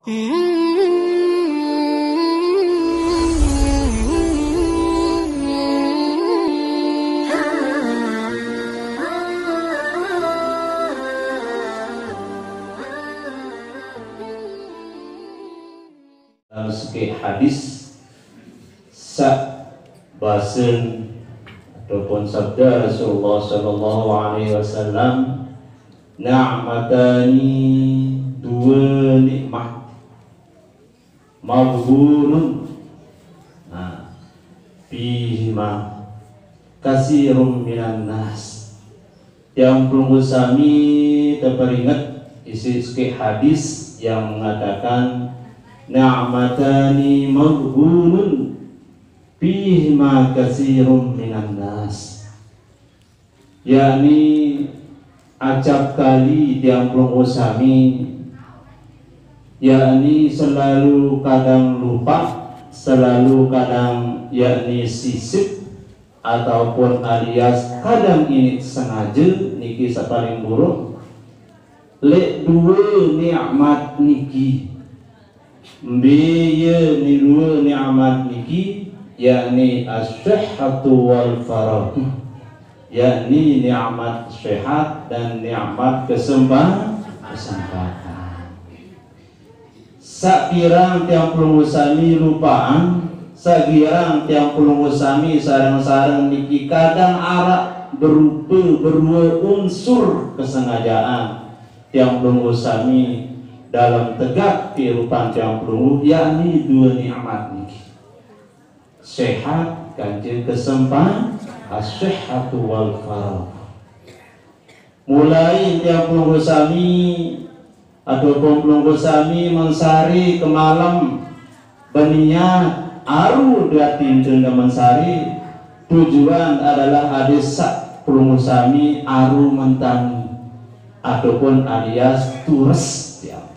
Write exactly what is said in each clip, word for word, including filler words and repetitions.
Dalam sebuah hadis, sa basen ataupun sabda Rasulullah sallallahu alaihi wasallam, "Ni'matani, dua nikmat, maghbunun, nah, fihima kasirum minan nas." Tiang pelungguh sami teperinget isi sebuah hadis yang mengatakan, "Ni'matani maghbunun fihima kasirum minan nas." Yakni acap kali tiang pelungguh sami, yakni selalu kadang lupa, selalu kadang yakni sisip, ataupun alias kadang ini sengaja, niki sapaling buruk. Lek dua nikmat niki. Mbe ye ni dua nikmat niki, yakni as-sihhatu wal faragh. Yakni nikmat sehat dan nikmat kesempa-, kesempatan. Sakirang tiang pelungguh sami lupaan, sakirang tiang pelungguh sami sareng-sareng niki kadang araq berupa berua unsur kesengajaan tiang pelungguh sami dalam tegak kehidupan tiang pelungguh, yakni dua nikmat niki. Sehat kance kesempa-, as-sihhatu wal faragh. Mulai tiang pelungguh sami, ataupun pelungguh sami mensari kemalem beniat aru dati enten mensari, tujuan adalah ade saq pelungguh sami aru mentangi, ataupun alias tures tiang.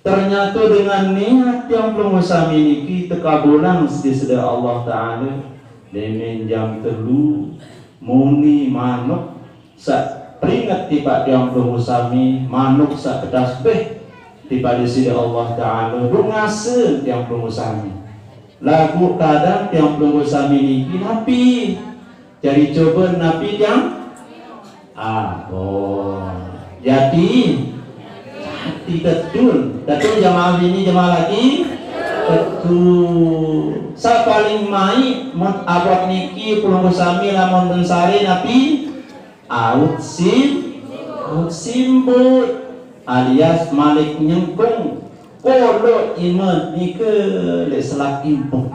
Ternyata dengan niat tiang pelungguh sami niki tekabulang siq Deside Allah Taala, lemen jam telu muni manuk saq peringet tipaq tiang pelungguh sami, manuk saq tetasbih tipaq Deside Allah Taala, bungase tiang pelungguh sami. Laguq kadang tiang pelungguh sami niki napi? Jari coba napi tiang? Ah, oh. Jati? Jati tetu. Tetu jemaah bini, jemaah laki? Tetu. Saq paling maiq, mun abot niki pelungguh sami lamun mensari napi? Aut sim-, aut simbut, alias malik nyengkung. Koloq ime nike leq selak impung.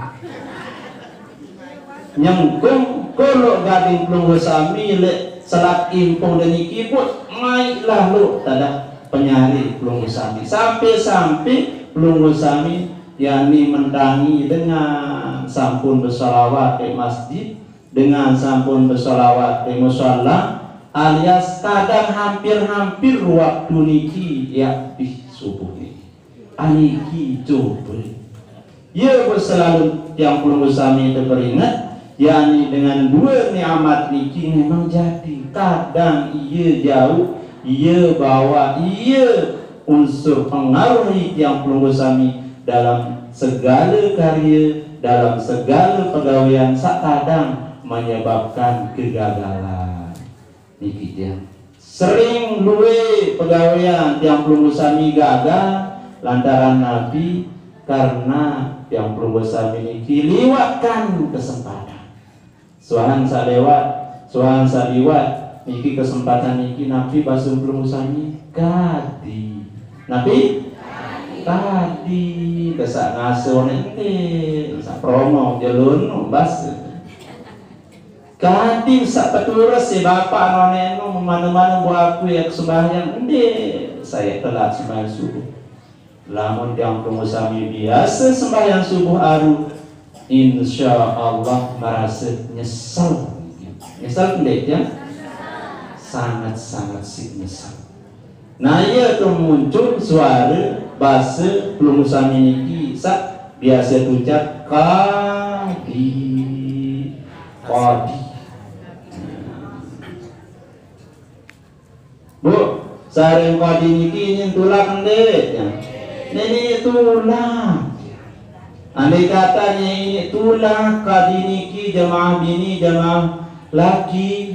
Nyengkung koloq gading pelungguh sami leq selak impung deniki, but maiqlah luq tadah penyari pelungguh sami. Sampe-sampe pelungguh sami yakni mentangi dengan sampun besolawat leq masjid, dengan sampun besolawat leq musala, alias kadang hampir-hampir waktu niki, yakti subuh niki. Aniki coba. Ye, beselalem tiang pelungguh sami teperinget, yakni dengan due nikmat niki memang jati. Kadang iye jauq, iye bawa, iye unsur pengaruhi tiang pelungguh sami dalam segale karye, dalam segale pegawean saq kadang menyebabkan kegagalan. Niki tiang sering lueq pegawean tiang pelungguh sami gagal lantaran napi? Karena tiang pelungguh sami niki liwatkan kesempatan. Suahan saq lewat, suahan saq liwat, niki kesempatan niki napi base pelungguh sami? Kadi. Napi? Kadi. Kesaq ngase oneq ndeq, saq promo jelun base. Kadi saq petures siq bapaq noneqnu, mane-mane mbuq aku yaq sembahyang, ndeq, sai telat sembahyang subuh. Lamun tiang pelungguh sami biase sembahyang subuh aru, insya Allah merase nyesel. Nyesel ndeq, ya? Sangat-sangat siq nyesel. Nah, iye temuncul suare base pelungguh sami niki saq biase tucap kadi. Kadi. Bu, sareng kadi niki nyin tulak ndeq, ya? Nini tulak. Andai kata nini tulak ka diniki jamaah bini, jamaah laki,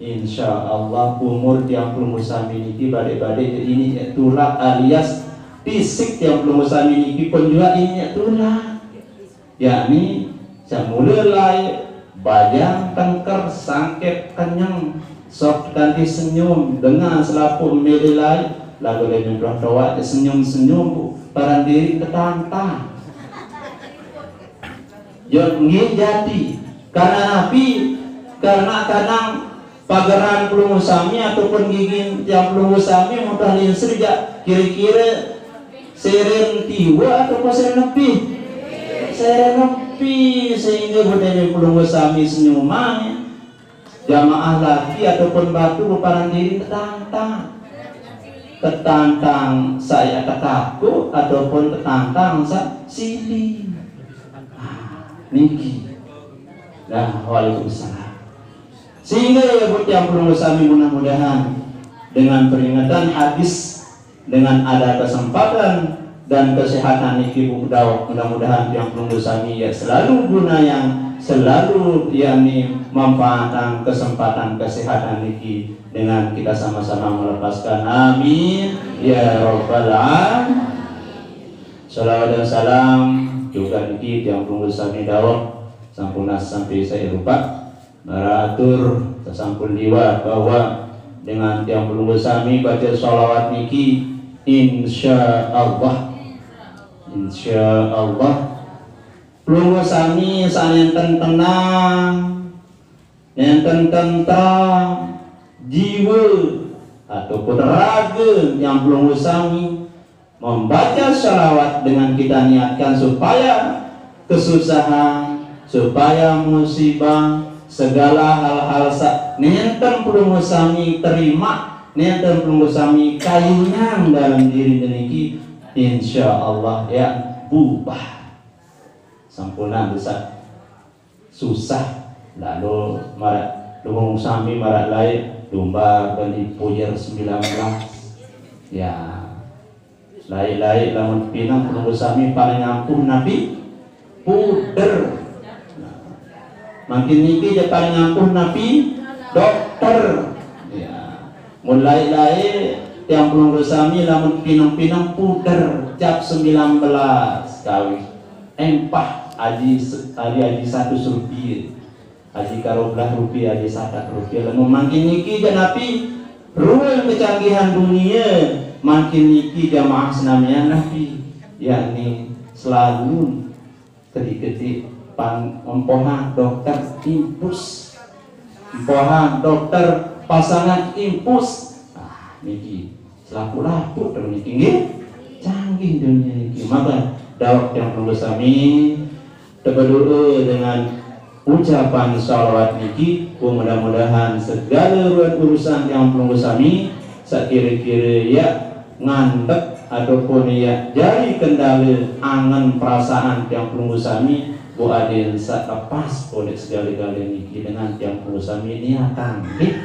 insya Allah umur tiang pelungguh sami niki badai-badai jadi nini tulak alias fisik tiang pelungguh sami niki pun jua nini tulak. Yakni, semula lai, bajang, tengker, sangkep, kenyang, sok kanti senyum, dengar selapuh mele lai, lagu lai nyemplung toa, senyum-senyum, paran diri ketantang. Yo, nggih jadi. Karena napi? Karena kadang pageran pelungguh sami ataupun gigin tiang pelungguh sami mudah linsri jak kira-kira seren tiwa ataupun seren lebih. Seren lebih sehingga budaya pelungguh sami senyuman jamaah laki ataupun batu beparan diri ketantang. Ketantang saya tekaku ataupun ketantang sa sili. Ah, niki. Nah, waalaikumsalam. Sehingga ya buat tiang pelungguh sami mudah-mudahan dengan peringatan hadis, dengan ada kesempatan dan kesehatan niki Bu Daud, mudah-mudahan tiang pelungguh sami ya selalu guna yang selalu yakni manfaatan kesempatan kesehatan niki dengan kita sama-sama melepaskan. Amin ya rabbal alamin. Salawat dan salam juga niki tiang pelungguh sami Daud sampun sampai saya lupa. Maratur sasampun liwat bahwa dengan tiang pelungguh sami baca salawat niki, insya Allah, insya Allah pelungguh sami sanenten tenang, nenten tentram jiwa ataupun raga tiang pelungguh sami membaca salawat dengan kita niatkan supaya kesusahan, supaya musibah, segala hal-hal sa nenten pelungguh sami terima, nenten pelungguh sami kayunyang dalam diri niki, insya Allah ya bubah. Sampuna bisa susah. Lalu marak lunggung sami marak lai lumba beli puyer sembilan belas. Ya. Lai-lai lamun pinang pelungguh sami paling ampuh napi puder. Nah, makin niki ja paling ampuh napi dokter. Ya. Mun lai-lai tiang pelungguh sami lamun pinang-pinang puder cap sembilan belas kawih. Empah aji se-, aji, aji satus rupiah. Aji karoblah rupiah, aji satak rupiah. Lamun makin niki ja napi ruang kecanggihan dunia, makin niki jamaah senamian napi, yakni selalu kedik-kedik pan empohan dokter impus. Empohan dokter pasangan impus. Ah, niki selaku-laku tu niki nggih. Canggih dunia niki. Maka Daud tiang pelungguh sami tebedoa dengan ucapan salawat niki, mudah-mudahan segala ruan urusan tiang pelungguh sami sakira-kira ya ngandek ataupun ya jari kendala angen perasaan tiang pelungguh sami, Bu adin sa lepas oleh segala-gala niki dengan tiang pelungguh sami niatan nggih.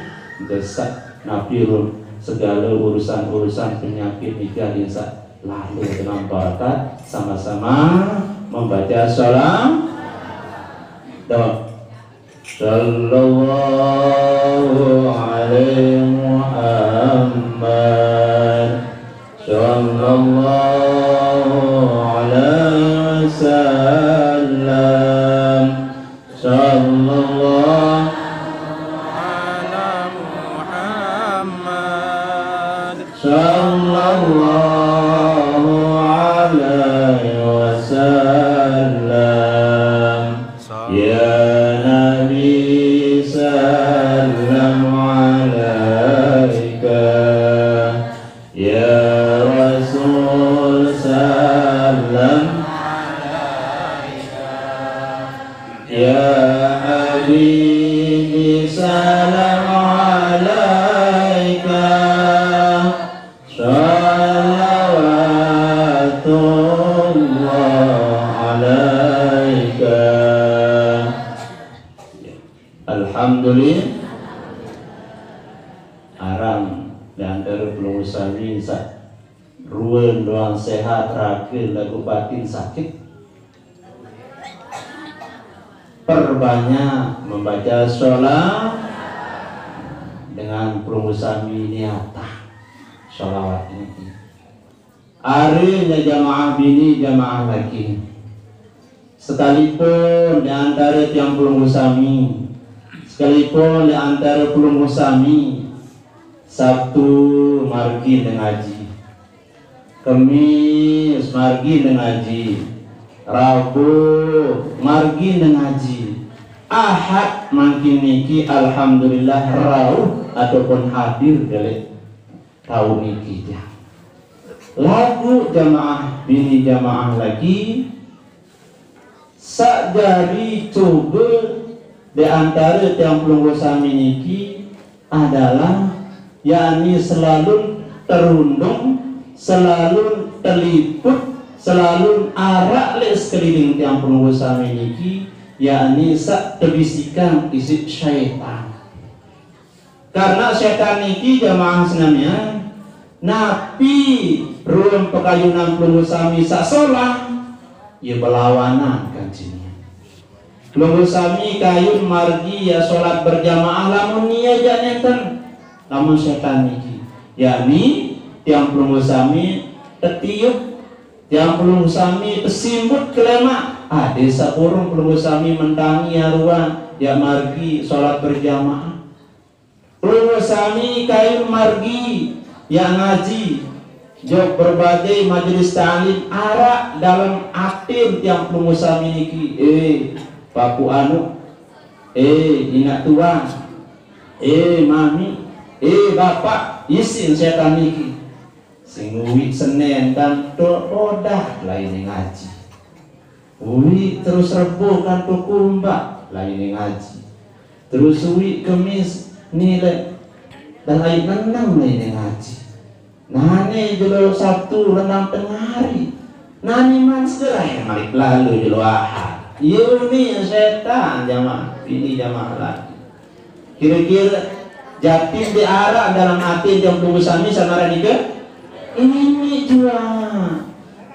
Gesak napi rum segala urusan-urusan penyakit niki adin sa lalu dengan barakat sama-sama membaca salam. Doa. Sallallahu alaihi Muhammad. Sallallahu alaihi wasallam. Sallallahu ala Muhammad. Sallallahu alaihi wasallam. Ya Nabi, salam alaika. Ya Rasul, salam alaika. Ya Habibi, salam alaika. Salawatullah alaika. Alhamdulillah. Arang di antara pelungguh sami sa ruan Lamun sehat rage lagu batin sakit, perbanyak membaca sholawat dengan pelungguh sami niatah sholawat niki. Ari nya jamaah bini, jamaah laki. Sekalipun di antara tiang pelungguh sami, sekalipun di antara pelungguh sami, Sabtu margi ngaji, Kemis margi ngaji, Rabu margi ngaji, Ahad mangkin niki alhamdulillah rauh ataupun hadir dewek rauh niki ja. Lagu jamaah bini jamaah laki, sak jari cuba di antara tiang pelungguh sami niki adalah, yakni selalu terundung, selalu terliput, selalu arak lek sekeliling tiang pelungguh sami niki, yakni sak tebisikan isik syaitan. Karena setan niki jamaah senamian, napi ruen pekayunan pelungguh sami sak solah, ia belawanan kancingnya. Pelungguh sami kayun margi ya solat berjamaah lamun nia jak nenten, lamun setan niki. Yakni tiang pelungguh sami tetiup, tiang pelungguh sami tesimbut ke lemak. Ade saburung pelungguh sami mentangi aruan ya margi solat berjamaah. Pelungguh sami kayun margi ya ngaji, jok berbagai majelis taklim arak dalam atin tiang pelungguh sami niki. Eh, papu anu, eh, inak tuan, eh, mami, eh, bapak, isin setan niki. Sing uik Senen kanto Odah lain ngaji. Uik terus Rebo kanto Kumbak lain ngaji. Terus uik Kemis nilai dan ai nenang lain ngaji. Nane jelo Sabtu renang tengari. Nane man segera yang malik lalu jelo Ahad. Yuni setan jamaah, ini jamaah lagi. Kira-kira jatin diarak dalam ati jam pelungguh sami sama radika? Ini jua.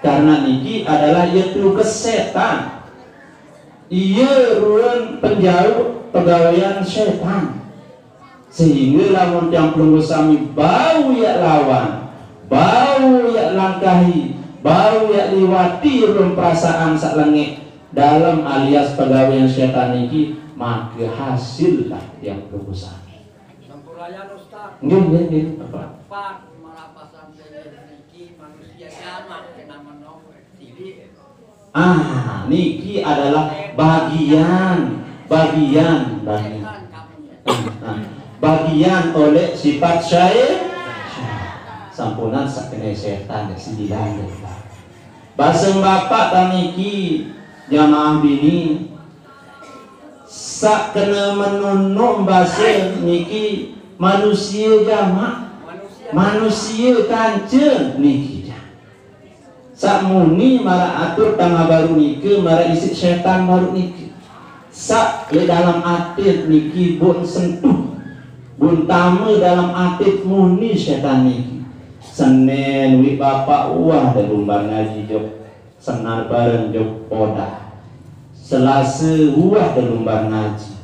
Karena niki adalah ia tugas setan. Ia ruang penjauh pegawaian setan. Sehingga lamun tiang pelungguh sami bau ia lawan, bau ia langkahi, bau ia liwati ruang perasaan sak lengek dalam alias pegawaian setan niki, maka hasil lah tiang pelungguh sami. Sampurayan, Ustaz. Nggih, nggih, nggih, Bapak. Empat, marapa sampai niki manusia jamak kena menong cilik. Ah, niki adalah bagian, bagian, bagian. Nah, bagian oleh sifat syai-, sampunan sakene setan ya sembilan ya. Baseng bapak taniki jamaah bini sak kena menunung basa niki manusia jamak, manusia kanca niki ja. Sak muni mara atur tangah baru nika mara isik setan baru nika. Sak le dalam atit niki bun sentuh, bun tama dalam atit muni setan niki. Senen wi bapak uah da lumbar ngaji jok senar bareng jok Odah. Selasa uah da lumbar ngaji.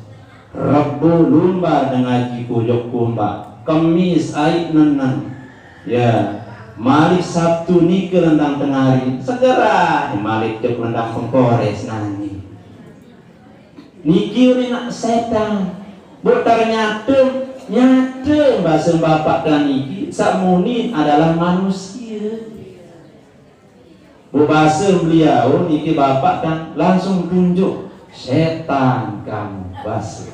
Rebo lumbar da ngaji ku jok Kumbak. Kemis ai nenang. Ya, malik Sabtu nika lendang tengari. Segera malik jok lendang pengkores nani. Niki uri nak setan. Bu ternyata nyata basa bapak dan niki sak muni adalah manusia. Bu basa beliau niki bapak kan langsung tunjuk setan kamu basa.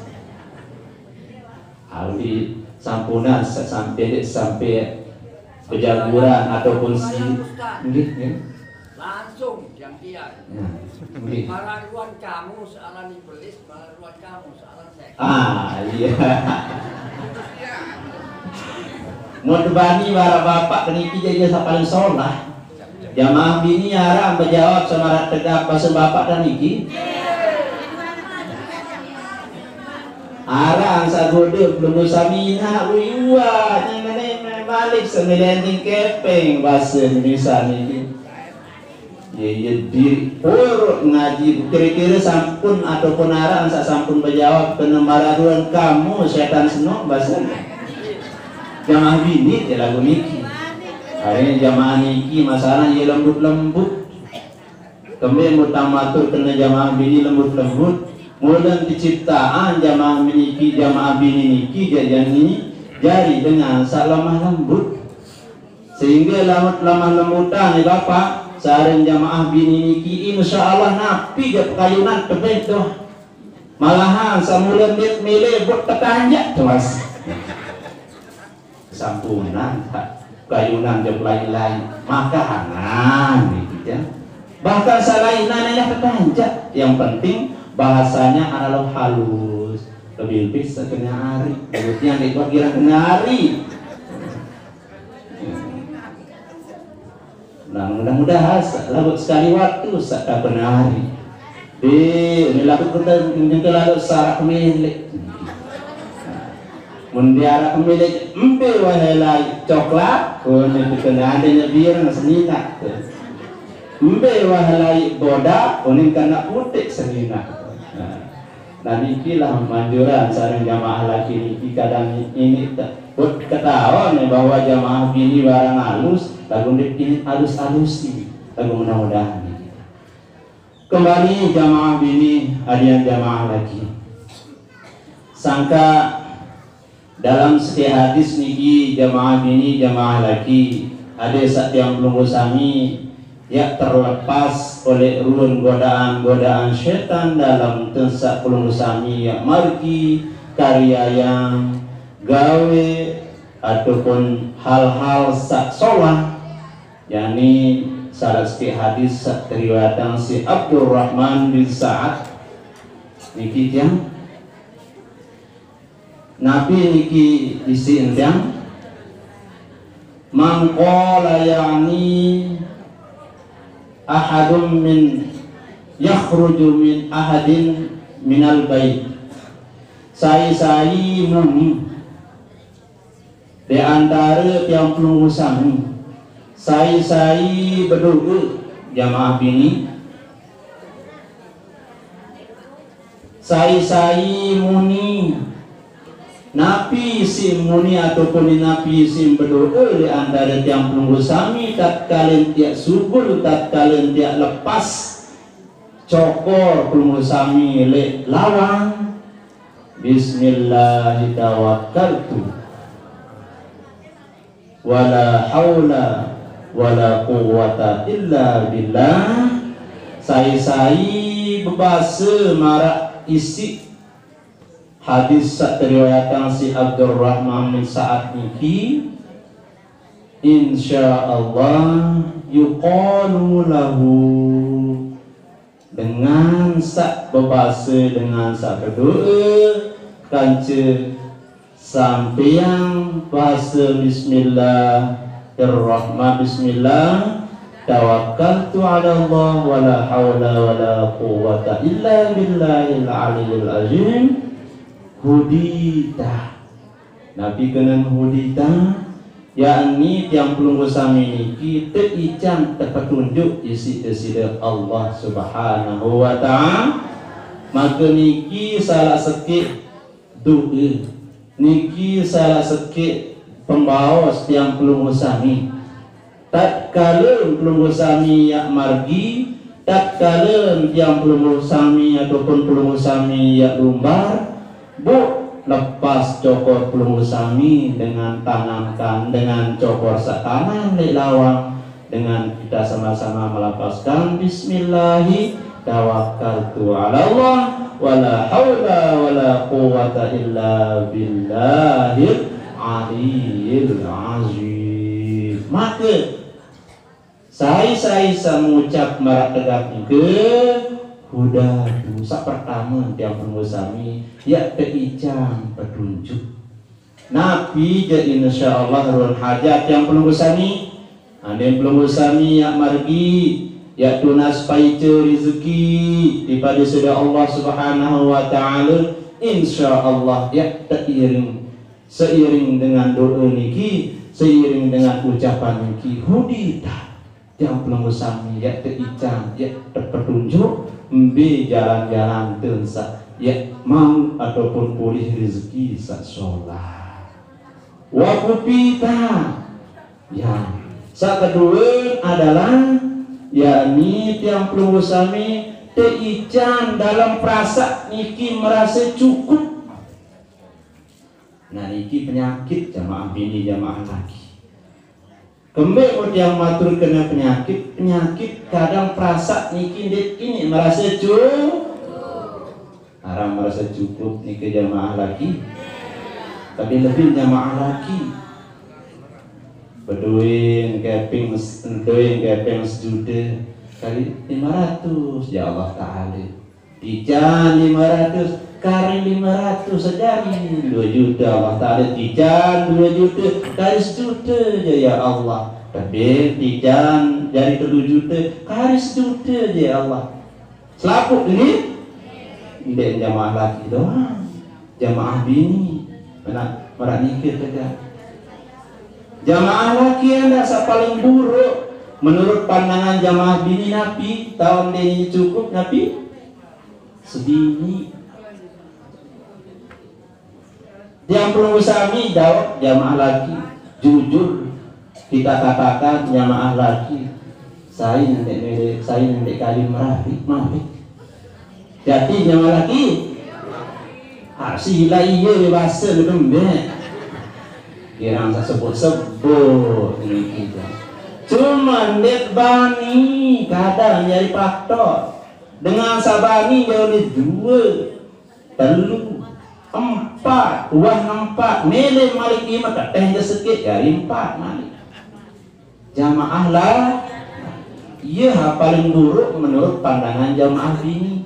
Alwi sampunan sa-, sampai dek sampai pejaguran ataupun si nggih, nggih. Langsung yang dia. Ya, nggih. Pararuan kamu soalan iblis, pararuan kamu soalan setan. Ah, iya. Mau tebani bara bapak keniki jadi sak paling solah. Jamaah bini arang bejawab samarak tegap basa bapak dan niki. Arang sagoda belum sami nak uyuan yang nane Malik sembilan kepeng bahasa Indonesia niki. Ya, ya diri urut ngaji, kira-kira sampun ataupun araq saq sampun bejawab kene maraduan kamu setan senok bahasa. Jamaah bini ya lagu niki. Hari jamaah niki masalah ya lembut-lembut. Kembe mutang matur kene jamaah bini lembut-lembut. Mulen keciptaan jamaah bini niki, jamaah bini niki jajani jari dengan saq lemah lembut. Sehingga lamun lemah lembutan ya Bapak, sareng jamaah bini niki insyaallah napi jaq pekayunan tebeh doh. Malahan semula mit milih buat tetanjak tuh Mas. Sampunan, Pak. Kayunan jok lain-lain. Makanan, gitu ya. Bahkan selain nanya ketanjak, yang penting bahasanya adalah halus. Lebih-lebih setengah hari. Menurutnya yang dibuat kira hari. Nah, mudah-mudahan sa-, laguq sekali waktu saq kaben hari. Di, ini laguq kita nyengke laguq sarak milik. Mun diarak milik, embe wahai lai coklat, oh, ini kita nggak ada nyebir, senina. Embe wahai lai boda, oh, ini kena putik senina. Nah, Nah, nikilah manjuran sareng jamaah laki niki kadang ini te-, buat ketahuan ya bahwa jamaah bini barang halus, lagu ndeq ini halus-halusi, lagu mudah-mudahan niki. Kembali jamaah bini, adian jamaah laki. Sangka Dalam sekeq hadis niki, jamaah bini, jamaah laki, ade saq tiang pelungguh sami, yaq terlepas oleh ruen godaan-godaan setan dalem tensa pelungguh sami, yaq margi kariayang gawe ataupun hal-hal saq solah, yakni salaq sekeq hadis saq teriwayatang siq Abdurrahman bin Sa'ad niki tiang. Napi niki isiq tiang? Man qala ya'ni ahadun min yakhruju min ahadin minal bait. Sai-sai muni leq antare tiang pelungguh sami, sai-sai bedoe, jamaah bini, Sai-sai muni, napi siq muni ataupun napi siq bedoe leq antare tiang pelungguh sami, tatkale tiaq sugul, tatkale tiaq lepas cokor pelungguh sami leq lawang, Bismillahi tawakkaltu. Wala haula wala quwwata illa billah. Sai-sai bebase maraq isiq hadis saq teriwayatang siq Abdurrahman bin Sa'ad niki, insyaallah yuqalu lahu, dengan saq bebase, dengan saq bedoe kance sampeang base bismillahirrahman-, bismillah, tawakkaltu 'alallah, wala haula wala quwwata illa billahil aliyyil azim, hudita. Napi kenen hudita? Yakni tiang pelungguh sami niki teican tepetunjuk isiq Deside Allah Subhanahu wa Ta'ala. Make niki salaq sekeq doe. Niki salaq sekeq pembaos tiang pelungguh sami. Tatkale pelungguh sami yaq margi, tatkale tiang pelungguh sami ataupun pelungguh sami yaq lumbar, buk lepas cokor pelungguh sami dengan tangan kan-, dengan cokor saq kanan leq lawang, dengan kita sama-sama melafazkan, "Bismillahi tawakkaltu 'alallah, wala haula wala quwwata illa billahil aliyyil azim." Make, sai-sai saq ngucap maraq tegap nike, hudatu, saq pertame tiang pelungguh sami, yaq teican petunjuk. Napi jaq insyaallah ruen hajat tiang pelungguh sami? Andin pelungguh sami yaq margi, yaq tunas paice rezeki daripada side Allah Subhanahu wa Ta'ala, insyaallah yaq teiring, seiring dengan doe niki, Seiring dengan ucapan niki, hudita, tiang pelungguh sami, ya teican, ya tepetunjuk, mbe jalan-jalan tun sa, ya mau ataupun polih rezeki sa solah. Wa kupita. Ya. Sa kedua adalah, yakni tiang pelungguh sami teican dalam perasaan niki merasa cukup. Nah, niki penyakit jamaah bini, jamaah laki. Kembe mun tiang matur kena penyakit, penyakit kadang perasa niki ndeq ini merasa cu-, arang merasa cukup niki jamaah laki. Lebih-lebih jamaah laki. Bedoe kepeng, bedoe kepeng sejuta kali lima ratus, ya Allah Taala. Tican lima ratus, kari lima ratus, sejari dua juta Allah Taala, tican dua juta, kari sejuta ja ya Allah. Tebeng tican jari telu juta, kari sejuta ja ya Allah. Selapuq nggih? Ndeq jamaah laki doang, jamaah bini. Mena-, meraq nike tega. Jamaah laki enda saq paling buruk menurut pandangan jamaah bini napi? Taoq ndeqne cukup napi? Sebini. Tiang pelungguh sami jawab jamaah laki, jujur kita katakan jamaah laki, sai ndeq mele, sai ndeq kayun merariq, malik. Jati jamaah laki? Ah, sila iye bebase lu kembeq. Girang saq sebut-sebut niki. Cuman ndeq bani kadang jari faktor. Dengan saq bani jari due, telu, empat, uah empat, mele malik lime, teteh je sekeq jari empat malik. Jamaah lah, iye ha paling buruk menurut pandangan jamaah bini.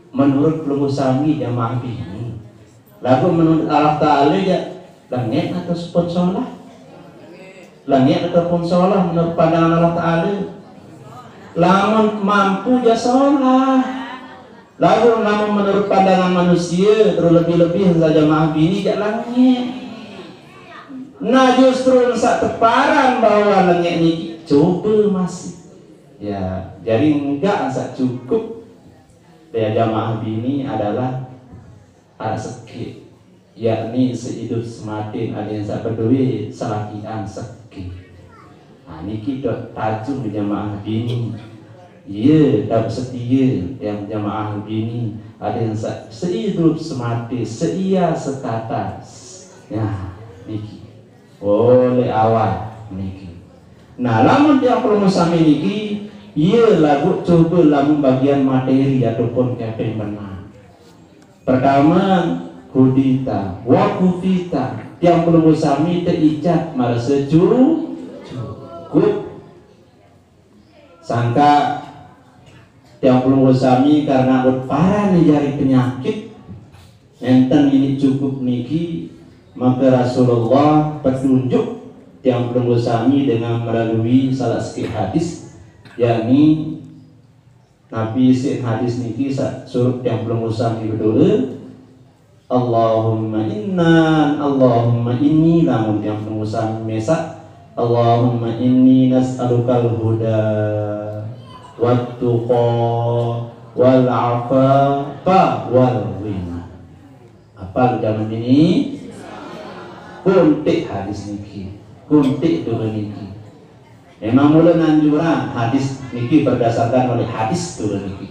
Menurut pelungguh sami jamaah bini. Laguq menurut Allah Taala ja, lengeq ataupun solah? Lengeq ataupun solah menurut pandangan Allah Taala? Lamun mampu ja solah. Laguq lamun menurut pandangan manusie, terus lebih-lebih sa jamaah bini ja lengeq. Nah, justru saq teparan bahwa lengeq niki cobe masih. Ya, jari enggak saq cukup leq jamaah bini adalah araq sekeq, yakni seidup semate, adeqn saq bedoe selakian sekeq. Nah, niki dot tajung jamaah bini. Iye, dot setie tiang jamaah bini, adeqn saq seidup semate, seia sekata. Nah, niki. Oh, leq awal niki. Nah, lamun tiang pelungguh sami niki, iye laguq cobe lamun bagian materi ataupun kepeng benang. Pertame, hudita, wa kufita, tiang pelungguh sami teican merase cu-, cukup. Sangkaq tiang pelungguh sami karena paran jari penyakit, nenten ini cukup niki, maka Rasulullah petunjuk tiang pelungguh sami dengan melalui salaq sekeq hadis, yakni napi isiq hadis niki saq suruq tiang pelungguh sami bedoe, Allahumma inna, Allahumma inni, lamun tiang pelungguh sami mesaq, Allahumma inni nas'alukal huda, wat tuqa, wal afafa, wal ghina. Apal jaman ini? Kuntik hadis niki, kuntik doa niki. Memang mula anjuran hadis niki berdasarkan oleh hadis doa niki.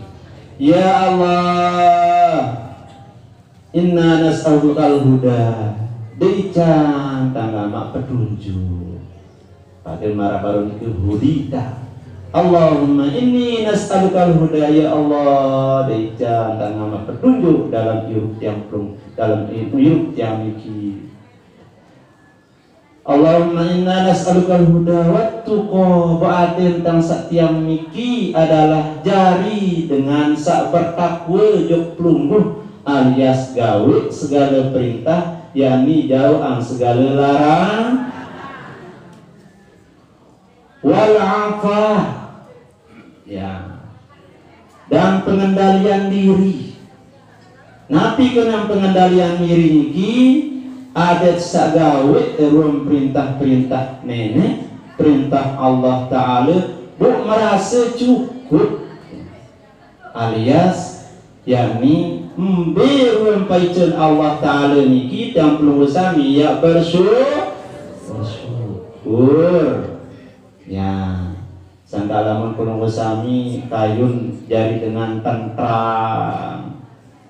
Ya Allah, inna nas'alukal huda, deican tanggamaq petunjuk. Pade maraq baruq niki hudita. Allahumma inni nas'alukal huda, ya Allah, deican tanggamaq petunjuk dalam irup tiang pelung-, dalam irup tiang niki. Allahumma inna nas'alukal huda wat tuqa, beate tentang saq tiang niki adalah jari dengan saq bertakwe jok pelungguh, alias gaweq segale perintah, yakni jauqang segale larang. Wal afah, ya, dan pengendalian diri. Napi kenan pengendalian diri niki? Adat sagawe ruang perintah-perintah nenek, perintah Allah Ta'ala, bu merasa cukup, alias yakni mbe ruang paicen Allah Ta'ala niki, tiang pelungguh sami, ya bersyukur. Bersyukur. Ya, sangka lamun pelungguh sami kayun jari dengan tentram,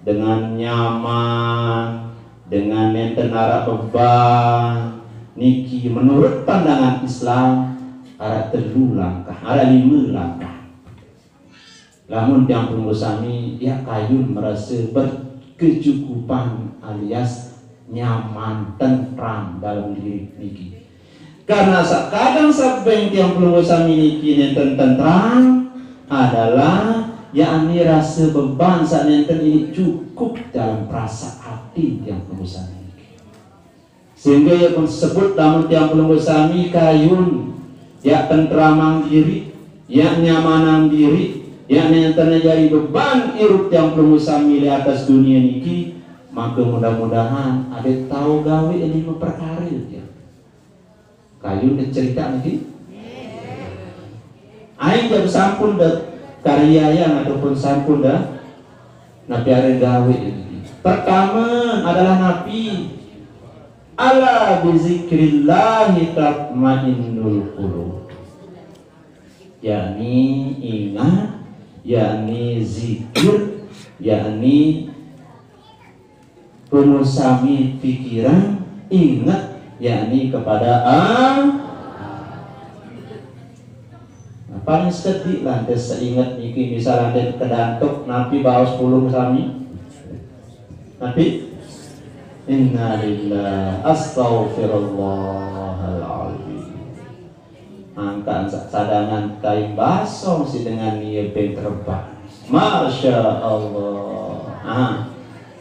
dengan nyaman, dengan nenten arak beban, niki menurut pandangan Islam arak telu langkah, arak lima langkah. Lamun tiang pelungguh sami, ya kayun merasa berkecukupan alias nyaman, tentram dalam diri niki. Karena sakadang sabeng tiang pelungguh sami niki nenten tentram adalah yakni rasa beban sak nenten ini cukup dalam perasa ati tiang pelungguh sami niki. Sehingga ya pun sebut lamun tiang pelungguh sami kayun, ya tentramang diri, ya nyamanang diri, ya nenten jari beban irup tiang pelungguh sami di atas dunia niki, maka mudah-mudahan ada tau gawe lima perkara ya. Kayun dicerita niki. Aing jam sampun da karya yang ataupun sampun da napi are gawe niki. Pertama adalah napi ala bizikrillahi tatmainnul qulub. Yakni ingat, yakni zikir, yakni pemusami pikiran, ingat, yakni kepada Allah. Nah, paling sedih lantas seingat niki, misal ada kedantuk, napi baos pulung sami? Napi? Innalillah, astagfirullahaladzim. Angkat sa-, sadangan tai basong si dengan ia peng terebak. Masya Allah. Ah.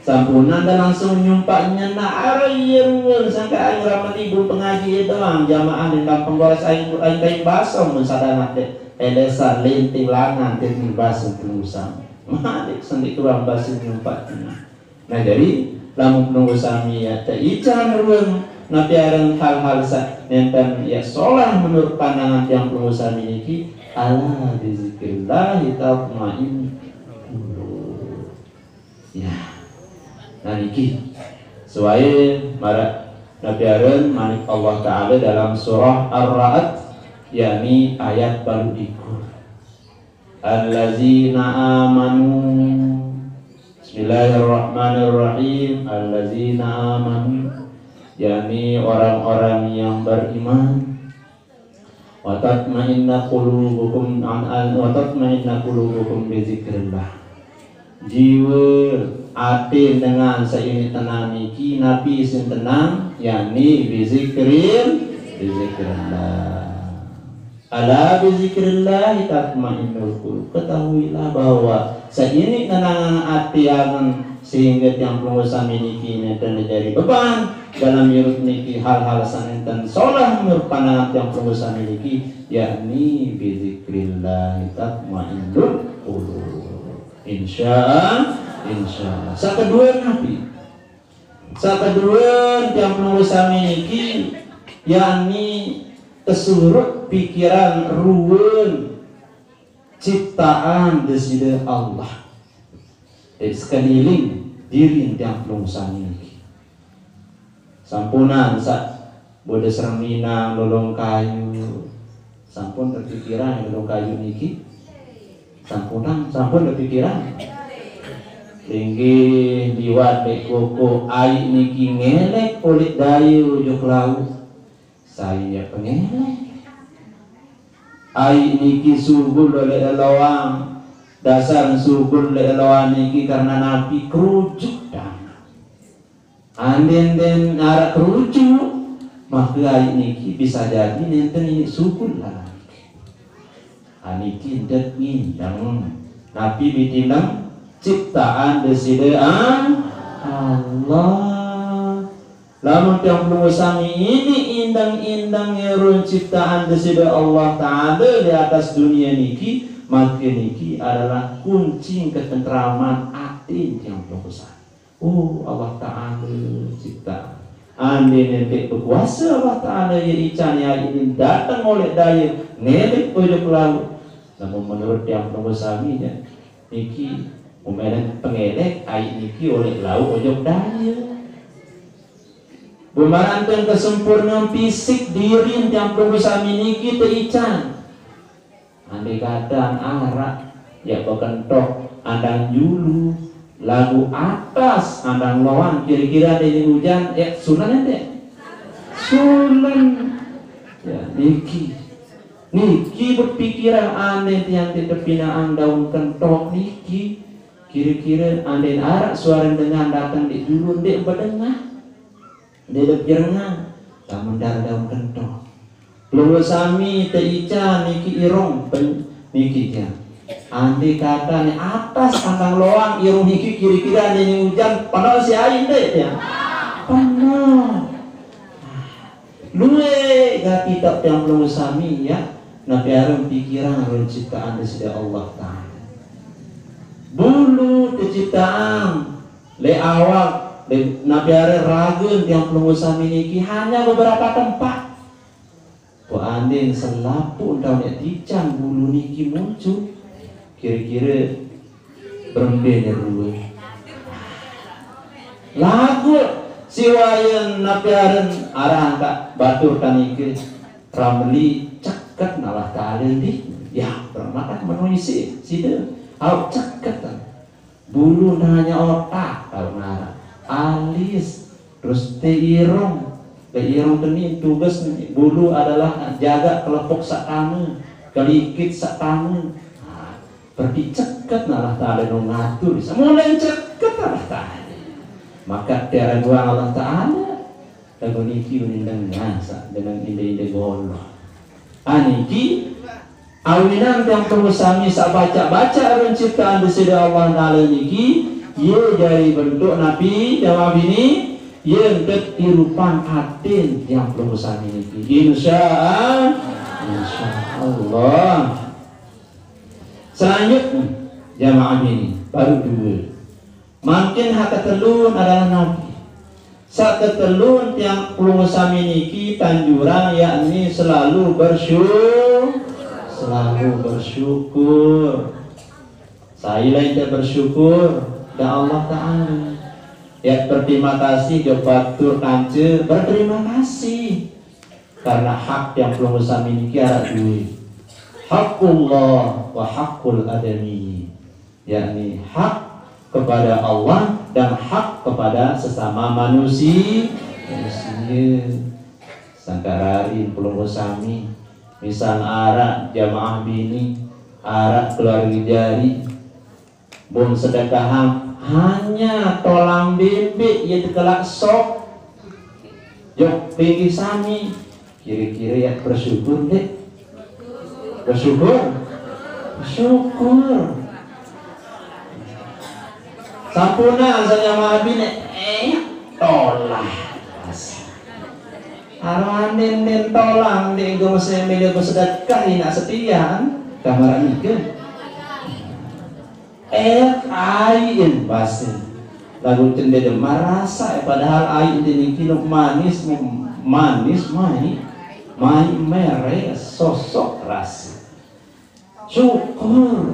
Sampunang dah langsung nyumpak nyenak arah ia ruang sangka aing ramen ibu pengaji ia doang jamaah di kampung boras aing, aing tai basong mun sadangan dek. Elesa linting langan tai basong penusang. Malik sendi kurang basi nyumpak nyenak. Nah, jadi lamun pelungguh sami ya teican ruang napi aran hal-hal sa nenten ya solah menurut pandangan tiang pelungguh sami niki, ala bizikrillahi tatmainnul qulub. Ya. Nah, niki suai marak napi aran manik Allah Ta'ala dalam surah Ar-Ra'd, yakni ayat balu likur. Allazina amanu. Bismillahirrahmanirrahim. Allazina amanu, yakni orang-orang yang beriman. Wa tatmainna qulubukum an, an wa tatmainna qulubukum bizikrillah. Jiwa, ati dengan saini tenang niki, napi sin tenang, yakni bizikril, bizikrillah. Ala bizikrillahi tatmainnul qulub. Ketahuilah bahwa saini nenangan ati angen sehingga tiang pelungguh sami niki nenten jadi beban dalam irup niki hal-hal sanenten solah menurut pandangan tiang pelungguh sami niki, yakni bizikrillahi tatmainnul qulub. Insya Allah, insya Allah. Sakedua napi? Sakedua tiang pelungguh sami niki, yakni tesurut pikiran ruang ciptaan Deside Allah. Jadi sekeliling diri tiang pelungguh sami niki. Sampunang sa bodes reminang lolong kayu. Sampun kepikiran lolong kayu niki? Sampunang, sampun kepikiran? Linggih liwat dek koko ai niki ngelek oleh dayu juk laut. Saya pengelek. Ai niki sugul oleh eloang. Dasar sugul oleh eloang niki karena napi kerujuk dang. Anden den arak kerujuk, maka ai niki bisa jadi nenten ini sugul lah. Aniki ndet ngindeng. Napi bitineng ciptaan Deside Allah. Lamun tiang pelungguh sami ini indeng-indeng ngerun ciptaan Deside Allah Ta'ala di atas dunia niki, maka niki adalah kunci ketentraman ati tiang pelungguh sami. Oh, Allah Ta'ala cipta. Andai nente bekuase Allah Ta'ala, ye ican ye aiq niki dateng oleq daye, ngelek ojok laut. Namun menurut tiang pelungguh sami, ya, niki, umelen pengelek aiq niki oleq laut ojok daye. Bemaraq nten kesempurnean fisik dirin tiang pelungguh sami niki teican. Andai katan araq, ya, bekentok andang julu, laguq atas andang loang, kire-kire andai ujan, ya, sulen ente? Sulen. Ya, niki. Niki bepikiran andai tiang ndeq tepinaqang daun kentok niki. Kire-kire andai araq suare dengan dateng leq julu, ndeq bedengah. Ndeq bepirengan, lamun ndaraq daun kentok. Pelungguh sami teican niki irung pen-, niki, ya. Andai katane atas andang loang irung niki kire-kire andai ujan, penoq siq aiq ndeq, ya? Penoq. Lueq gati taoq tiang pelungguh sami, ya, napi araq pikiran ruen ciptaan Deside Allah Ta'ala. Bulu teciptaan leq awak, leq napi araq ragen tiang pelungguh sami niki hanya beberapa tempat. Pok andin selapuq taoq ndeq teican bulu niki muncul, kire-kire berembe ne rue. Laguq siq wayen napi aren araq angkaq batur tanike, Ramli ceket Allah Ta'ala ndi? Ya, berembe meno isiq side? Auq ceket. Bulu hanya otak taoq naraq. Alis, terus te irung. Te irung teni tugas bulu adalah jagaq kelepuk saq tame, kelikit saq tame. Nah, berarti ceket Allah Ta'ala no ngatur. Semulai ceket Allah Ta'ala. Maka tiara doang Allah Ta'ala. Laguq niki unin dengan saq dengan inde-inde goloh. Ah, niki awinan tiang pelungguh sami saq baca-baca ruen ciptaan Deside Allah Ta'ala niki, ye jari bentuk napi jamaah bini, ye entet irupan atin tiang pelungguh sami niki. Insya Allah. Insya Allah. Selanjutnya, jamaah bini, baru due. Mangkin hak ketelun adalah napi? Saq ketelun tiang pelungguh sami niki tanjurang, yakni selalu bersyu-, selalu bersyukur. Sai lain te bersyukur? Dan Allah Ta'ala. Ya, berterima kasih, jok batur kance, berterima kasih. Karena hak tiang pelungguh sami niki araq due. Haqqullah wa haqqul adami. Yakni hak kepada Allah dan hak kepada sesama manusi-, manusia. Sangkaq rarin pelungguh sami, misal araq jamaah bini, araq keluarge jari, bun sedekahang hanya tolang bembeq ye tekelaq sop. Jok pinggih sami, kire-kire yaq bersyukur ndeq? Bersyukur? Bersyukur. Sampunang saq jamaah bini, eh, tolang. Aroanin nin tolang ndeq enggo mese mele besedekah inaq setian, kamar nike. Eh, aiq base. Laguq cende de marasa, eh, padahal aiq de niki luk manis, manis, maiq, maiq meres, sosok rase. Syukur.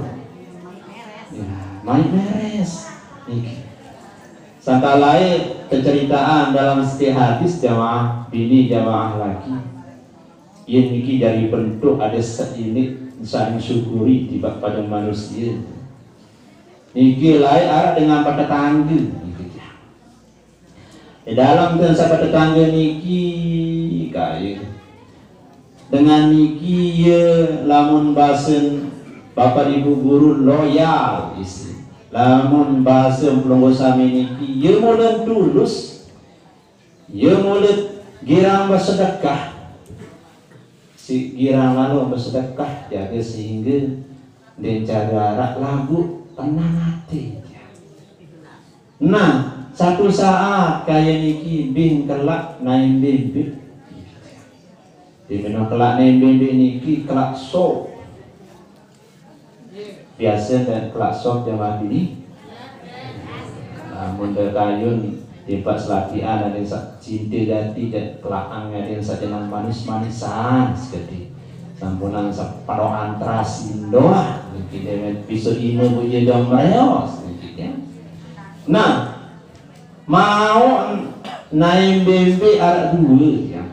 Ya, maiq meres. Niki. Sangkaq laeq keceritaan dalam setiq hadis jamaah bini, jamaah laki. Yen niki jari bentuk ade seinik saling syukuri tipaq pade manusie. Niki laeq araq dengan betetangge. Niki. Di dalem dengan saq betetangge niki, kaye. Dengan niki ye lamun basen Bapak Ibu guru loyal isi. Lamun basen pelungguh sami niki ye mule tulus. Ye mule girang besedekah. Siq girang lalo besedekah jage sehingge ndeq care araq laguq tenang ate. Nah, satu saat kaye niki bing kelaq naen bembeq. Di meno kelaq naen bembeq niki kelaq sop. Biase ndeq kelaq sop jamaah bini. Lamun de kayun Timpal selakian ade saq cinte gati, jaq kelaqang ade saq jenengan manis-manisan sekediq. Sampunang saq penoqan terasi doang, niki demen piso ime buje dong mereos, niki ya. Nah, mauq naen bembeq araq due ya.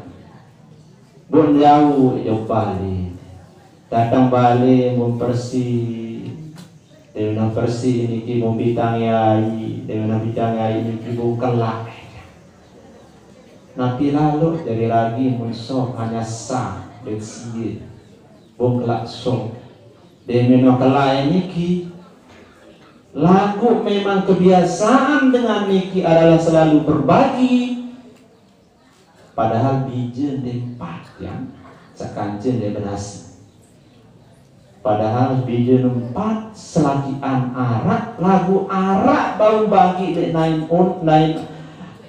Bun jauq jok bale. Dateng bale mun persi, demen persi niki mun bitange aiq, demen bitange aiq niki bun kelaq. Napi laloq jari ragi mun soq hanya sa dait sie, bun kelaq soq. Demen kelaq niki, laguq memang kebiasaan dengan niki adalah selalu berbagi. Padahal bije ndeq empat, ya, sekance ndeq benasi. Padahal bije empat selakian araq, laguq araq bau bagi leq naen un-, naen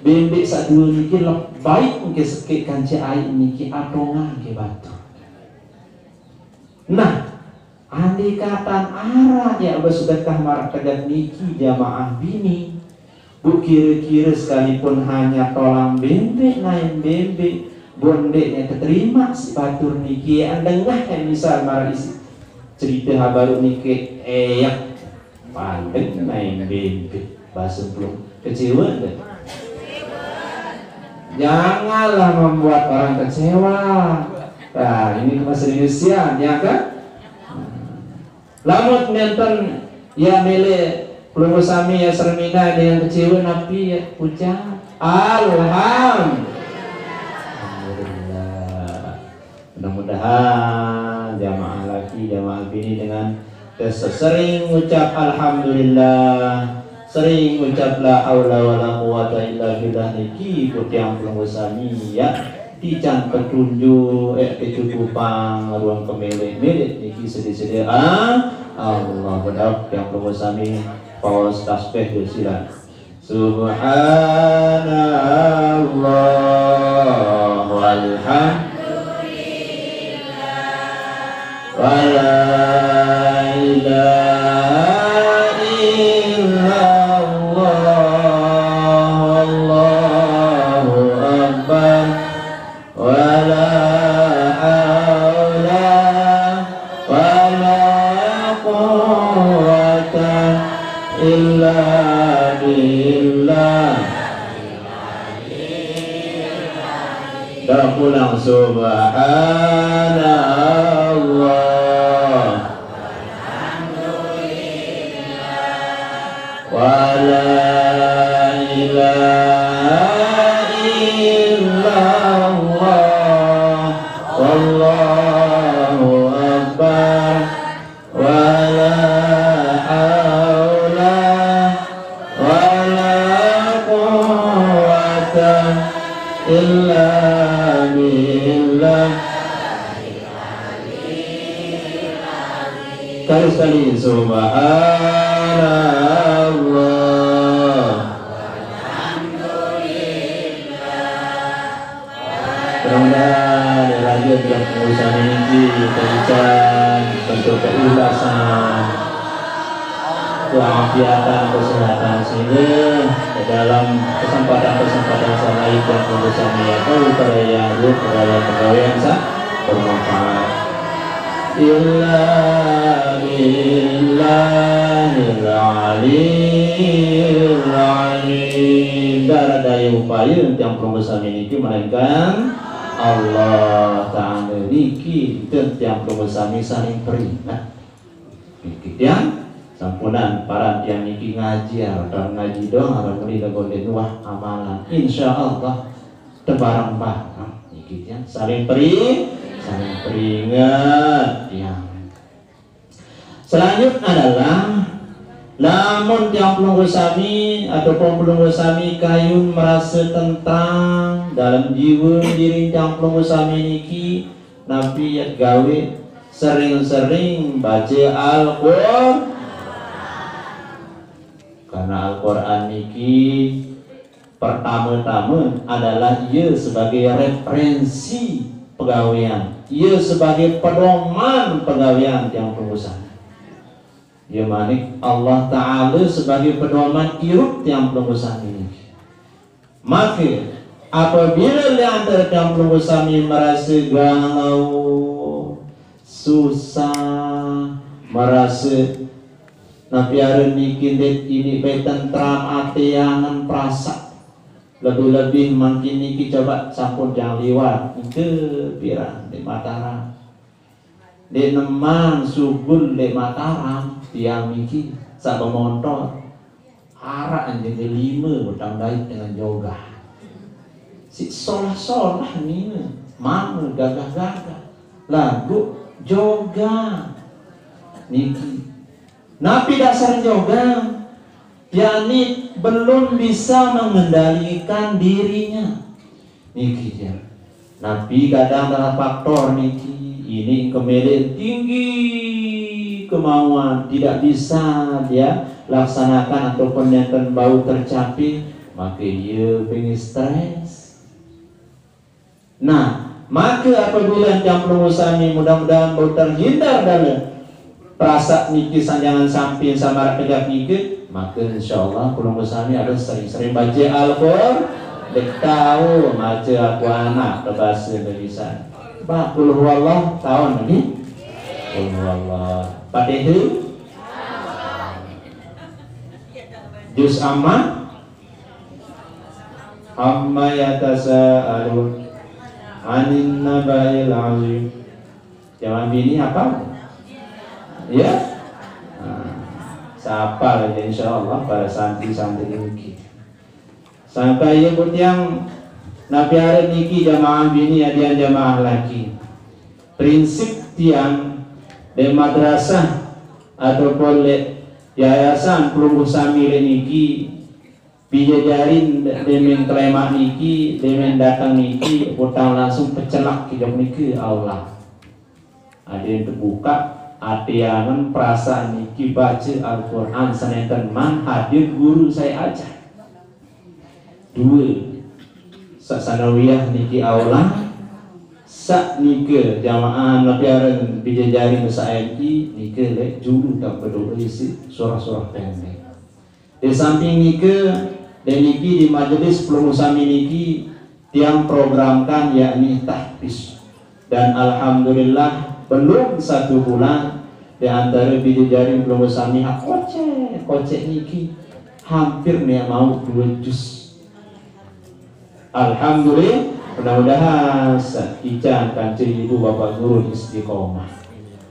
bembeq saq due niki lebih baik engke sekeq kance aiq niki atongang ke batur. Nah, andai katan araq yaq besedekah maraq tegaq niki jamaah bini, Bu, kire-kire sekalipun hanya tolang bembeq, naen bembeq, bun ndeqne teterimaq siq batur niki, yaq dengah yaq misal maraq isiq cerite habaruq niki, eh, yaq pandek naen bembeq, base pelung. Kecewe ndeq? Janganlah membuat orang kecewa. Nah, ini bahasa Indonesia, ya kan? Lamun nenten, ya, mele pelungguh sami, ya, seremina dengan kecewe, napi, ya, ucap, "Alham-, Alhamdulillah." Mudah-mudahan jamaah laki, jamaah bini dengan sering ngucap alhamdulillah, sering ngucap la haula wala quwwata illa billah niki, ku tiang pelungguh sami, ya, tican petunjuk, eh, kecukupang, ruang kemeleq-meleq niki sede-sede. Ah, Allah, bedauq tiang pelungguh sami, paos tasbih jok silaq. Subhanallah walhamdulillah, wala ilaha illallah, wallahu akbar. Wala haula wala quwwata illa billah. Dah pulang, subhanallah. Wala ilaha illallah, wallahu akbar, wala haula wala quwwata illa billah. Sekali-sekali, subhanallah. Mudah-mudahan leq rajeq tiang pelungguh sami niki teican bentuk keikhlasan, keafiatan, kesehatan, sehingga di dalam kesempatan-kesempatan saq lain tiang pelungguh sami ya tao perayaan, perayaan pegawean saq bermanfaat. Illa billahil aliyil azim. Ndeq araq daye upaye tiang pelungguh sami niki melainkan Allah Taala niki, nten tiang pelungguh sami saling peringet. Niki tiang, sampunan paran tiang niki ngaji, araq taun ngaji doang, araq muni laguq ndeqn uah amalan. Insyaallah tebareng-bareng niki tiang saling peri-, saling peringet tiang. Selanjutnya adalah, lamun tiang pelungguh sami ataupun pelungguh sami kayun merase tentram dalam jiwa diri tiang pelungguh sami niki, napi yaq gawe? Sering-sering bace Al-Qur-, karena Al-Qur'an niki pertame-tame adalah ie sebagai referensi pegawean, ie sebagai pedoman pegawean tiang pelungguh sami. Ie manik Allah Taala sebagai pedoman irup tiang pelungguh sami niki. Maka apabila leq antare tiang pelungguh sami merase galau, susah, merase napi aran niki ndeq iniq bae tentram ate angen perasaan, lebih-lebih mangkin niki coba sampun jam liwat, nike piran leq Mataram. Ndeq nemang sugul leq Mataram, tiang niki saq bemontor, araq anjing lime utang dait dengan jogang. Siq solah-solah nine, mame gagah-gagah, laguq jogang. Niki napi dasar jogang? Yakni belum bisa mengendalikan dirinya. Niki ya. Napi kadang dalam faktor niki, ini kemeleq tinggi kemauan, tidak bisa dia laksanakan ataupun nenten bau tercapai, maka ia pengen stres. Nah, maka apabila tiang pelungguh sami mudah-mudahan bau terhindar dari perasaan niki, jangan sampai sama tegak niki, maka insyaallah pelungguh sami harus sering-sering baca Al-Qur'an. Ndeq tao mace aku anak ke bahasa Indonesia. Bah, Qul huwallah taon lagi. Qul huwallah. Fatihah. Juz amma. Amma yatasaalun anin naba'il azim. Jamaah bini hafal? Ya? Nah, saq hafal aja insyaallah para santri-santri niki. Sangkaq ie pun tiang napi aran niki jamaah bini adian jamaah laki. Prinsip tiang leq madrasah ataupun leq yayasan pelungguh sami leq niki, Bijajarin demen kelemaq niki, demen dateng niki, utang langsung pecelak kijok niki, Allah. Adeqn tebukaq ate angen perasaan niki bace Al-Qur'an senenten man hadir guru sai ajah. Due, saq sanawiyah niki Allah, saq nike jamaah napi aran bijajarin saq enki nike leq julu tang bedoe isiq surah-surah pendek. Di samping nike, leq niki di majelis pelungguh sami niki, tiang programkan yakni tahfiz. Dan alhamdulillah, belum satu bulan, di antare bijajarin pelungguh sami hak koceq-koceq niki, hampir neq mauq due juz. Alhamdulillah, mudah-mudahan saq ican kance ibu bapak guru istiqomah.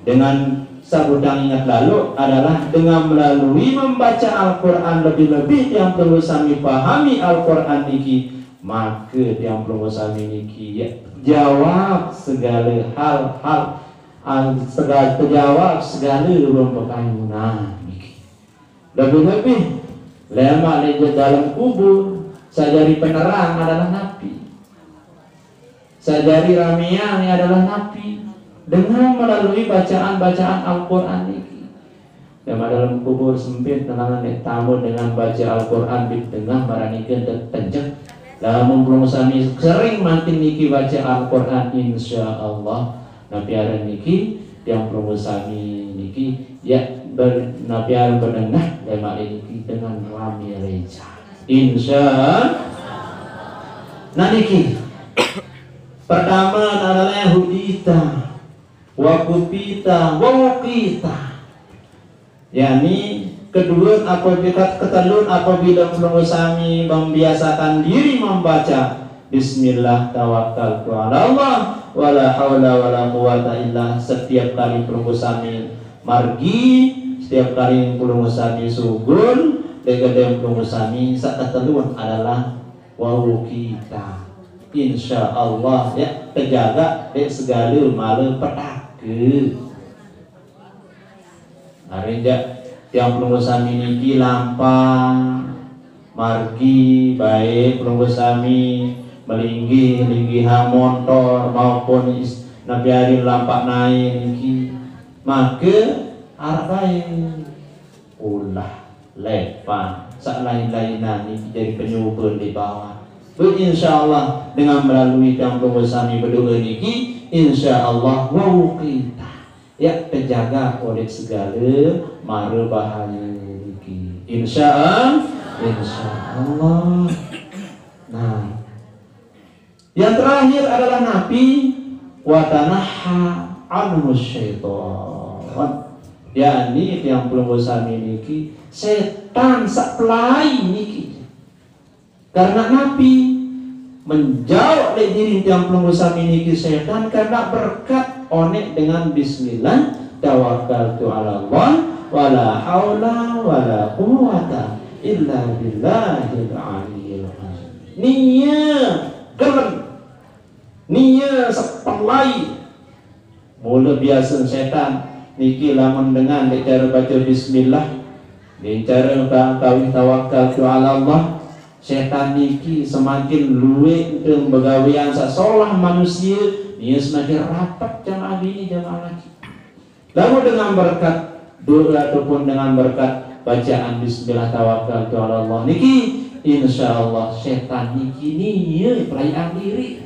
Dengan saq tiang inget lalo adalah dengan melalui membaca Al-Qur'an, lebih-lebih tiang pelungguh sami pahami Al-Qur'an niki, make tiang pelungguh sami niki, ya, jawab segale hal-hal, al-, sega-, tejawab segale ruen pekayunan niki. Lebih-lebih, lemaq leq dalem kubur, saq jari penerang adalah napi? Saq jari ramean adalah napi? Dengan melalui bacaan-bacaan Al-Qur'an niki. Lemaq dalem kubur sempit, tenangan leq tame dengan bace Al-Qur'an di tengah, maraq nike ndeq tenjek. Lamun pelungguh sami sering mangkin niki bace Al-Qur'an, insyaallah, napi aran niki, tiang pelungguh sami niki, ya, ber-, napi aran bedengah lemaq leq niki dengan rame reja. Insya. Nah niki. Pertame adalah hudita, wa kupita, wa wuqita. Yakni kedue, apabila, ketelun, apabila pelungguh sami membiasakan diri membaca, "Bismillah tawakkaltu ala Allah, wala haula wala quwwata illa," setiap kali pelungguh sami margi, setiap kali pelungguh sami sugul, leq gedeng pelungguh sami, saq ketelun adalah wau kita. Insya Allah, ya, tejaga leq segale male petake. Are jaq tiang pelungguh sami niki lampaq margi, baik pelungguh sami melinggih, linggihan montor maupun is-, napi aran lampaq nae niki, make araq bae ulah, lepang, saq lain-lainan niki jari penyobe leq bawaq. Beh, insya Allah, dengan melalui tiang pelungguh sami bedoe niki, insya Allah, wau kita. Ya, tejaga oleh segale mare bahaye niki. Insya Allah, insya Allah. Nah, Yang terakhir adalah napi, wa tanahha anhu syaitan. Yakni tiang pelungguh sami niki setan sak pelai niki. Karena napi, menjauh dari diri tiang pelungguh sami niki setan karena berkat onek dengan bismillah, tawakkaltu ala Allah, wala haula wala quwwata illa billahil aliyil azim. Nia gelem, nia sepelai. Mula biasa setan niki lamun dengan dek cara baca bismillah, dek cara ka-, kawih tawakkaltu ala Allah, setan niki semakin luwek ente begawean sak solah manusia, nia semakin rapet jamaah bini jamaah laki. Lalu dengan berkat doa ataupun dengan berkat bacaan bismillah tawakkaltu ala Allah niki, insya Allah setan niki nia pelaian diri.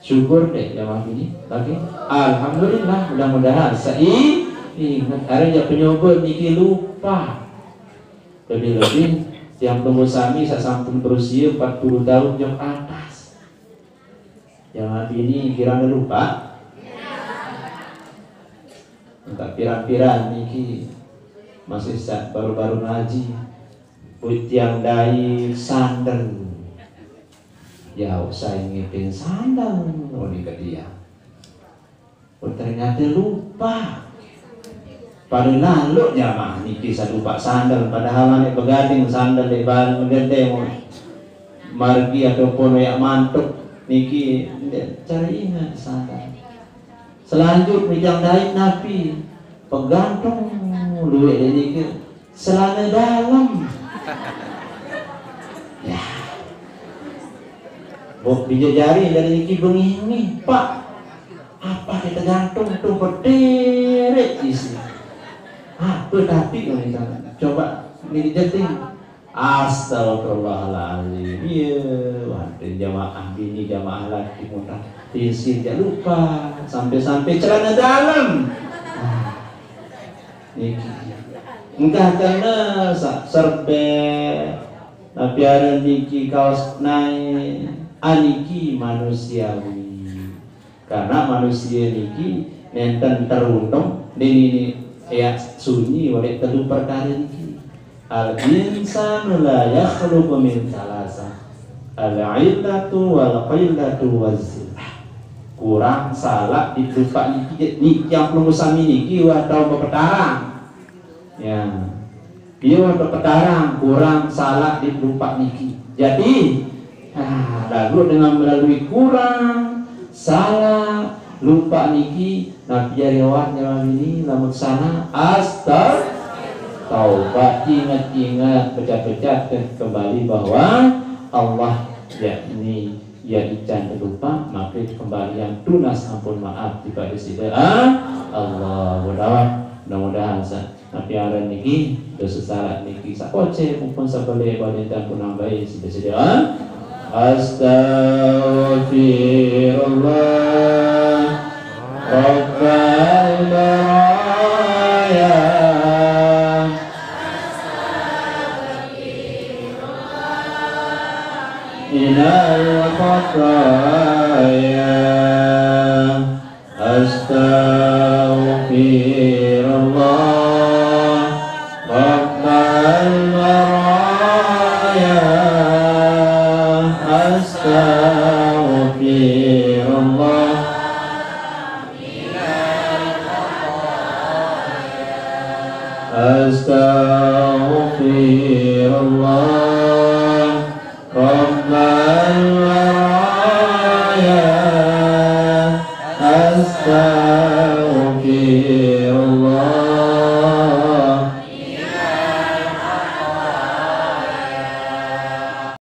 Syukur deh jamaah bini. Oke. Alhamdulillah, mudah-mudahan sai ingat. Ada je penyoba niki lupa. Lebih-lebih tiang pelungguh sami sak sampun berusia empat puluh tahun jok atas. Jamaah bini kiranya lupa. Entah pirang-pirang niki masih sa-, baru-baru ngaji. Putiang dai sandal. Ya, usah ngipin sandal, oh, di dia. Oh, ternyata lupa. Pada lalu jamaah niki sadupak sandal, padahal anak begading sandal di bal gedeng, margi ataupun yak mantuk niki ndak cari ingat sandal. Selanjut mijang dai napi, pegantung luwek dek niki selana dalam. Ya. Bok dijejari dari niki bengi ini, Pak. Apa kita gantung tu berderet isi. Apa tapi, coba ni jeting. Astagfirullahaladzim. Iya, wah, jamaah bini, jamaah laki muntah. Tinsin dia lupa. Sampai-sampai celana dalam. Ah, niki. Engkah kena sa-, serbet. Tapi ada niki kaos naik. Aniki manusiawi. Karena manusia niki nenten teruntung, nini ni ya sunyi oleh telu perkara niki. Al insanu la yakhluqu min thalatha. Al illatu wal qillatu waz zillah. Kurang salah di tempat niki, niki yang perlu sami niki atau berpetarang. Ya. Dia berpetarang kurang salah di tempat niki. Jadi, ah, lalu dengan melalui kurang, salah, lupa niki, napi jari awak jamaah bini, lamun salah, astag-, taubat, ingat-ingat, pecah-pecah kembali bahwa Allah yakni ia ican terlupa, maka kembalian tunas ampun maaf kepada sida, ah, Allah. Mudah-mudahan sa-, Napi aran niki, dosa salah niki sakoce maupun sabale bade tampun ambai sida-sida. Astaghfirullah Rabbal baraya. Minal khataya. Astaghfirullah Rabbal baraya. Astaghfirullah. Astaghfirullah.